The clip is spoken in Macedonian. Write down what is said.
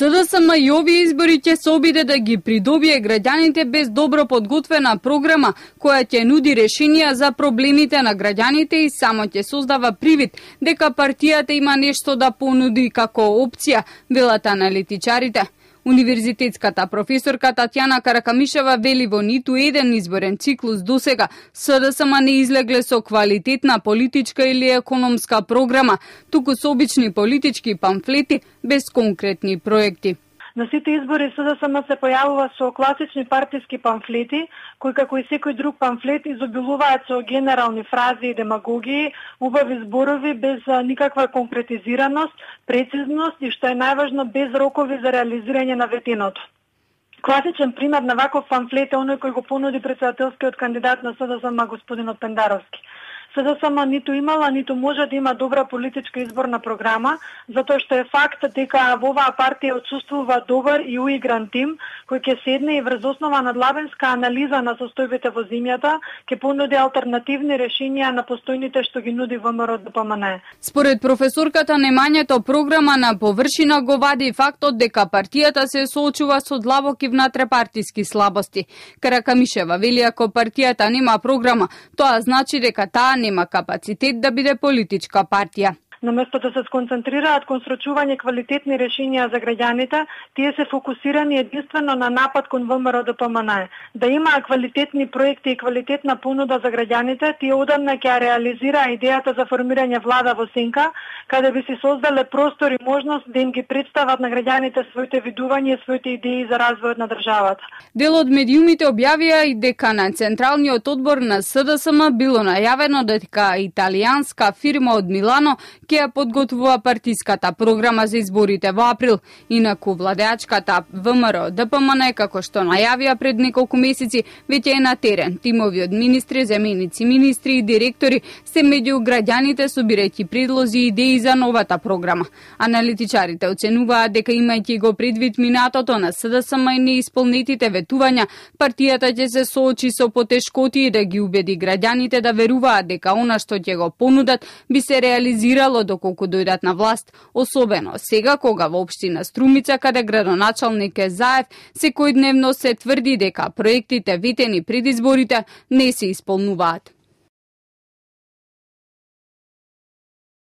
СДСМ и овие избори ќе се обиде да ги придобие граѓаните без добро подготвена програма која ќе нуди решенија за проблемите на граѓаните и само ќе создава привид дека партијата има нешто да понуди како опција, велат аналитичарите. Универзитетската професорка Татјана Каракамишева вели во ниту еден изборен циклус досега СДСМ не излегле со квалитетна политичка или економска програма, туку со обични политички памфлети без конкретни проекти. На сите избори СДСМ се појавува со класични партиски памфлети, кои како и секој друг памфлет изобилуваат со генерални фрази и демагогии, убави зборови без никаква конкретизираност, прецизност и што е најважно без рокови за реализирање на ветеното. Класичен пример на ваков памфлет е оној кој го понуди председателскиот кандидат на СДСМ господинот Пендаровски. СДСМ ниту имала, ниту може да има добра политичка изборна програма, затоа што е факт дека во оваа партија отсуствува добар и уигран тим, кој ќе седне и врз основа на длабенска анализа на состојбите во земјата, ќе понуди алтернативни решенија на постојните што ги нуди ВМРО-ДПМН. Според професорката, немањето програма на површина го вади фактот дека партијата се соочува со длабоки внатрепартиски слабости. Каракамишева вели ако партијата нема програма, тоа значи дека таа нема капацитет да биде политичка партија. Наместо да се сконцентрираат кон срочување квалитетни решенија за граѓаните, тие се фокусирани единствено на напад кон ВМРО-ДПМН. Да има квалитетни проекти и квалитетна понуда за граѓаните, тие одамна ќе реализира идејата за формирање влада во сенка, каде би се создале простор и можност да им ги представат на граѓаните своите видувања и своите идеи за развојот на државата. Дел од медиумите објавија и дека на Централниот одбор на СДСМ било најавено дека италијанска фирма од Милано ќе ја подготвува партиската програма за изборите во април. Инаку владеачката ВМРО-ДПМН, како што најавија пред неколку месеци, веќе е на терен. Тимови од министри, заменици министри и директори се меѓу граѓаните собирајќи предлози и идеи за новата програма. Аналитичарите оценуваат дека имајќи го предвид минатото на СДСМ и неисполнетите ветувања, партијата ќе се соочи со потешкоти и да ги убеди граѓаните да веруваат дека она што ќе го понудат би се реализирало доколку дојдат на власт, особено сега кога во општина Струмица, каде градоначалник е Заев, секојдневно се тврди дека проектите ветени пред изборите не се исполнуваат.